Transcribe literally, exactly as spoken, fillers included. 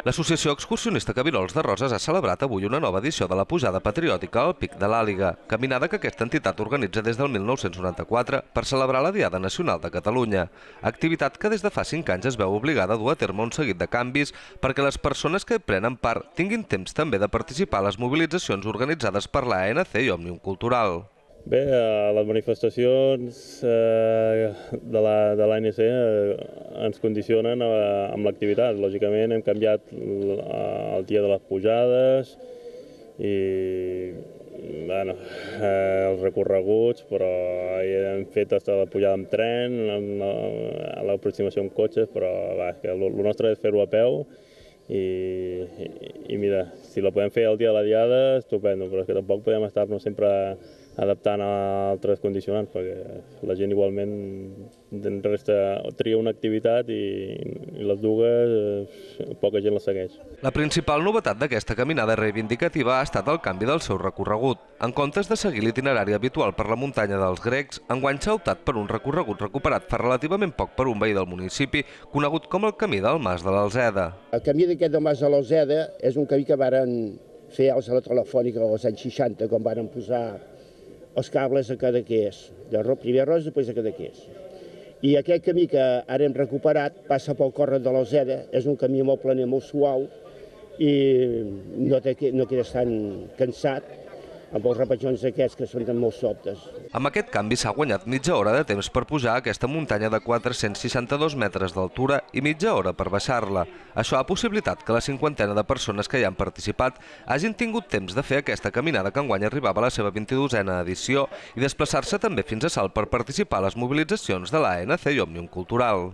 L'Associació Excursionista Cabirols de Roses ha celebrat avui una nova edició de la Pujada Patriòtica al Pic de l'Àliga, caminada que aquesta entitat organitza des del mil nou-cents noranta-quatre per celebrar la Diada Nacional de Catalunya. Activitat que des de fa cinc anys es veu obligada a dur a terme un seguit de canvis perquè les persones que hi prenen part tinguin temps també de participar a les mobilitzacions organitzades per l'A N C i Òmnium Cultural. Bé, les manifestacions de l'A N C ens condicionen amb l'activitat. Lògicament hem canviat el dia de les pujades i bueno, els recorreguts, però hem fet fins la pujada amb tren, l'aproximació amb cotxes, però va, que el nostre és fer-ho a peu i, i mira, si la podem fer el dia de la Diada, estupendo, però és que tampoc podem estar-nos sempre adaptant a altres condicionants, perquè la gent igualment resta, tria una activitat i, i les dues poca gent les segueix. La principal novetat d'aquesta caminada reivindicativa ha estat el canvi del seu recorregut. En comptes de seguir l'itinerari habitual per la muntanya dels Grecs, enguany s'ha optat per un recorregut recuperat fa relativament poc per un veí del municipi, conegut com el Camí del Mas de l'Alzeda. El camí d'aquest del Mas de l'Alzeda és un camí que varen fer els a la Telefònica als anys seixanta, quan varen posar els cables a Cadaqués, primer a Roses, després a Cadaqués. I aquest camí que ara hem recuperat passa pel córrec de l'Alzeda, és un camí molt planer, molt suau i no, no quedes tan cansat amb els repetjons aquests que són molt sobtes. Amb aquest canvi s'ha guanyat mitja hora de temps per pujar a aquesta muntanya de quatre-cents seixanta-dos metres d'altura i mitja hora per baixar-la. Això ha possibilitat que la cinquantena de persones que hi han participat hagin tingut temps de fer aquesta caminada que enguany arribava a la seva vint-i-dosena edició i desplaçar-se també fins a Salt per participar a les mobilitzacions de l'A N C i Òmnium Cultural.